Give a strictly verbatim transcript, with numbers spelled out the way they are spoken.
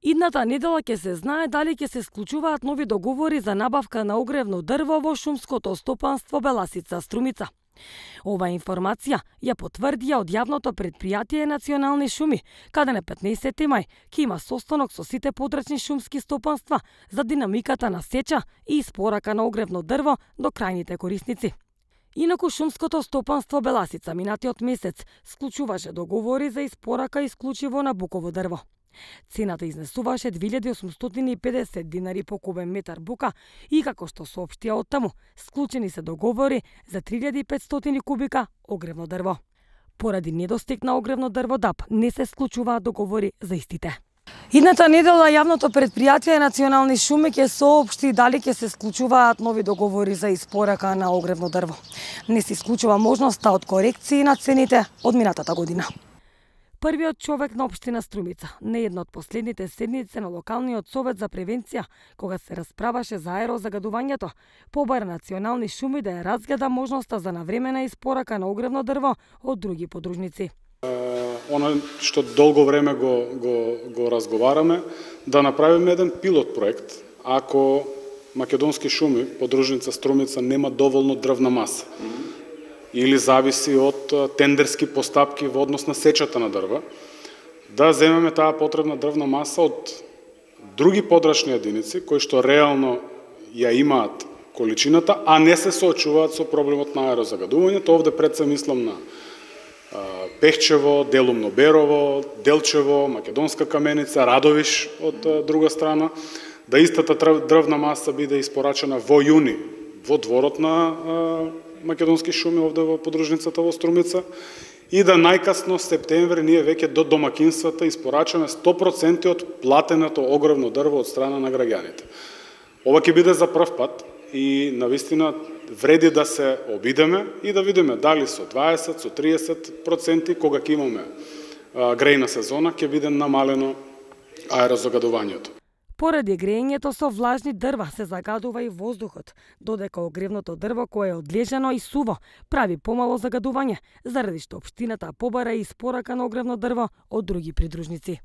Идната недела ќе се знае дали ќе се склучуваат нови договори за набавка на огревно дрво во шумското стопанство Беласица Струмица. Ова информација ја потврдија од јавното претпријатие Национални шуми, каде на петнаесети мај ќе има состанок со сите подрачни шумски стопанства за динамиката на сеча и испорака на огревно дрво до крајните корисници. Инаку шумското стопанство Беласица минатиот месец склучуваше договори за испорака исклучиво на буково дрво. Цената изнесуваше две илјади осумстотини и педесет динари по кубен метар бука и, како што соопштија оттаму, склучени се договори за три илјади и петстотини кубика огревно дрво. Поради недостиг на огревно дрво ДАП не се склучуваат договори за истите. Идната недела јавното претпријатие Национални шуми ќе соопшти дали ќе се склучуваат нови договори за испорака на огревно дрво. Не се исклучува можноста од корекции на цените од минатата година. Првиот човек на општина Струмица, не една од последните седници на локалниот совет за превенција, кога се расправаше за аерозагадувањето, побара Национални шуми да ја разгледа можноста за навремена испорака на огревно дрво од други подружници. Оно што долго време го, го, го разговараме, да направиме еден пилот проект, ако Македонски шуми, подружница Струмица, нема доволно дрвна маса. Или зависи од тендерски постапки во однос на сечата на дрва, да земеме таа потребна дрвна маса од други подрачни единици, кои што реално ја имаат количината, а не се соочуваат со проблемот на аерозагадувањето. Овде пред се мислам на Пехчево, делумно Берово, Делчево, Македонска каменица, Радовиш од друга страна, да истата дрвна маса биде испорачена во јуни во дворот на Македонски шуми овде во подружницата во Струмица и да најкасно септември ние веќе до домакинствата испорачаме сто проценти од платеното огревно дрво од страна на граѓаните. Ова ќе биде за прв пат и навистина вреди да се обидеме и да видиме дали со дваесет, со триесет проценти, кога ќе имаме грејна сезона, ќе биде намалено аерозагадувањето. Поради грејењето со влажни дрва се загадува и воздухот, додека огревното дрво кое е одлежано и суво прави помало загадување, заради што општината побара и испорака на огревно дрво од други придружници.